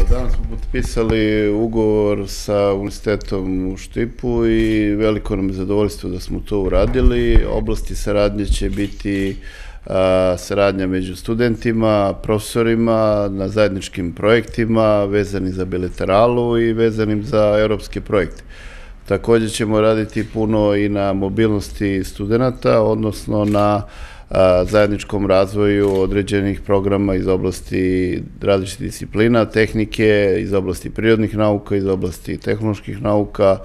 Danas smo potpisali ugovor sa Univerzitetom u Štipu i veliko nam je zadovoljstvo da smo to uradili. Oblasti saradnje će biti saradnja među studentima, profesorima, na zajedničkim projektima vezanim za bilateralu i vezanim za europske projekte. Također ćemo raditi puno i na mobilnosti studenta, odnosno na zajedničkom razvoju određenih programa iz oblasti različitih disciplina, tehnike, iz oblasti prirodnih nauka, iz oblasti tehnoloških nauka,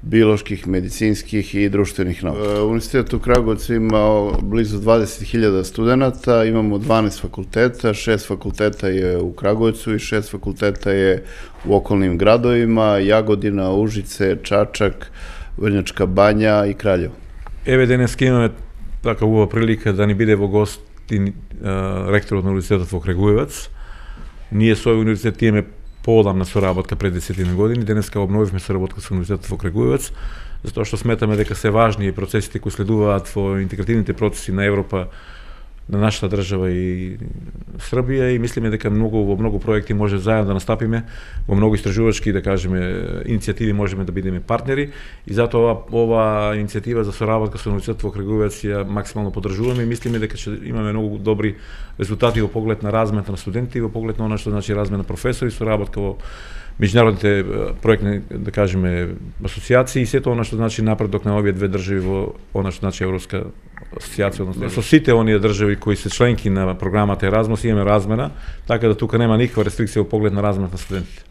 bioloških, medicinskih i društvenih nauka. Univerzitet u Kragujevcu ima blizu 20.000 studenta, imamo 12 fakulteta, 6 fakulteta je u Kragujevcu i 6 fakulteta je u okolnim gradovima, Jagodina, Užice, Čačak, Vrnjačka Banja i Kraljevo. Еве денеска имаме така убава прилика да ни биде во гости ректорот на Универзитетот во Крагуевац. Ние со овој универзитет имаме поодамна соработка пред 10 години. Денеска обновивме соработка со Универзитетот во Крагуевац, затоа што сметаме дека се важни процесите кои следуваат во интегративните процеси на Европа, на нашата држава и Србија, и мислиме дека во многу проекти може заедно да настапиме, во многу истражувачки, да кажеме, иницијативи можеме да бидеме партнери, и затоа ова иницијатива за соработка со Универзитетот во Крагуевац ја максимално поддржуваме и мислиме дека ќе имаме многу добри резултати во поглед на размена на студенти, во поглед на она што значи размена на професори, соработка во меѓународните проектни, да кажеме, асоциации и сето она што значи напредок на овие две држави во она што значи Европска асоциација, односно со сите оние држави кои се членки на програмата Еразмус имаме размена, така да тука нема никаква рестрикција во поглед на размена на студентите.